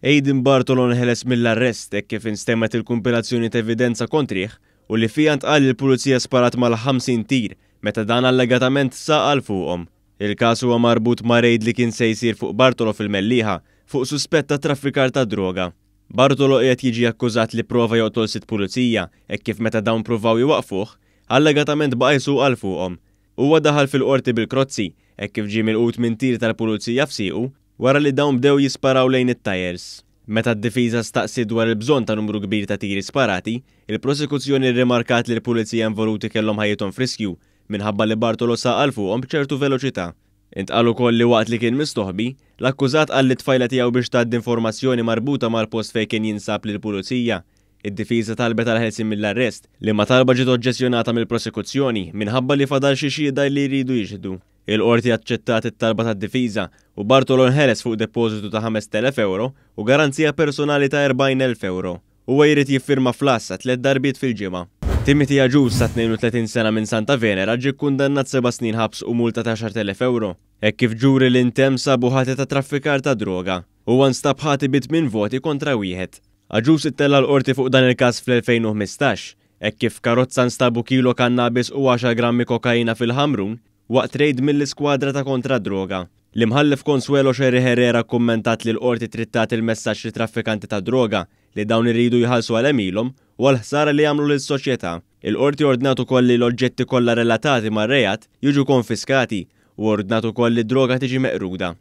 Aiden Bartolo nħeles mill-arrest hekk kif instemgħet il-kumpilazzjoni ta' evidenza kontrih u li fiha ntqal li l-Pulizija sparat mal-50 tir meta dan allegatament saq għal fuqhom. Il-każ huwa marbut ma' rejd li kien se jsir fuq Bartolo fil-Mellieħa fuq suspett ta' traffikar ta' droga. Bartolo qiegħed jiġi akkużat li pprova joqtol sitt pulizija hekk kif meta dawn pruvaw jwaqqfuh, allegatament baqa' jsuq għal fuqhom. Huwa daħal fil-Qorti bil-krozzi hekk kif ġie milqut minn tir tal-pulizija f'siequ wara li dawn bdew jisparaw lejn it-tajers. Meta d-difiża staqsiet dwar il-bżonn ta' numru kbir ta' tiri sparati, il-prosekuzzjoni rrimarkat li l-pulizija involuti kellhom ħajjithom f'riskju minħabba li Bartolo saq għal fuqhom b'ċertu veloċità. Intqal ukoll li waqt li kien mistoħbi, l-akkużat qal lit-tfajla tiegħu biex tgħaddi informazzjoni marbuta mal-post fejn kien jinsab lill-pulizija. Id-difiża talbet għall-ħelsien mill-arrest, liema talba ġiet oġġezzjonata mill-prosekuzzjoni minħabba li fadal xi xhieda li jridu jixhdu. Il-Qorti aċċettat it-talba tad-difiża u Bartolo nħeles fuq depożitu ta' 5,000 ewro u garanzija personali ta' 40,000 ewro. Huwa jrid jiffirma fl-għassa tlett darbiet fil-ġimgħa. Timothy Agius ta' 32 sena minn Santa Venera ġie kkundannat seba' snin ħabs u multa ta' 10,000 ewro, hekk kif ġuri li ntemm sabu ħati ta' traffikar ta' droga. Huwa nstab ħati bi tmien voti kontra wieħed. Agius ittella' l-Qorti fuq dan il-każ fl-2015, hekk kif f'karozza nstabu kilo kannabis u għaxar grammi kokaina fil-Ħamrun waqt rejd mill-Iskwadra ta' Kontra d-Droga. L-Imħallef Consuelo Scerri Herrera kkummentat li l-Qorti trid tagħti l-messaġġ lit-traffikanti tad-droga li dawn iridu jħallsu għal għemilhom u għall-ħsara li jagħmlu lis-soċjetà. Il-Qorti ordnat ukoll li l-oġġetti kollha relatati mar-reat jiġu konfiskati u ordnat ukoll li d-droga tiġi meqruda.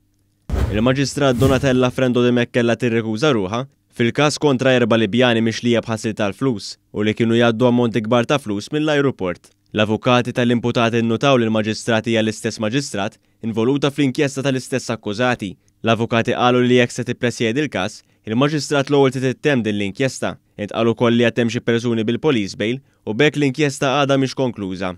Il-Maġistrat Donatella Frendo Dimech kellha tirrikuża ruħha fil-każ kontra erba' Libjani mixlija b'ħasil tal-flus u li kienu jgħaddu ammonti kbar ta' flus mill-ajruport. L-avukati tal-imputati nnutaw li l-Maġistrat hija l-istess Maġistrat involuta fl-inkjesta tal-istess akkużati. L-avukati qalu li jekk se tippresjedi l-każ, il-Maġistrat l-ewwel trid ittemm din l-inkjesta. Intqal ukoll li għad hemm xi persuni bil-police bail u b'hekk l-inkjesta għadha mhix konkluża.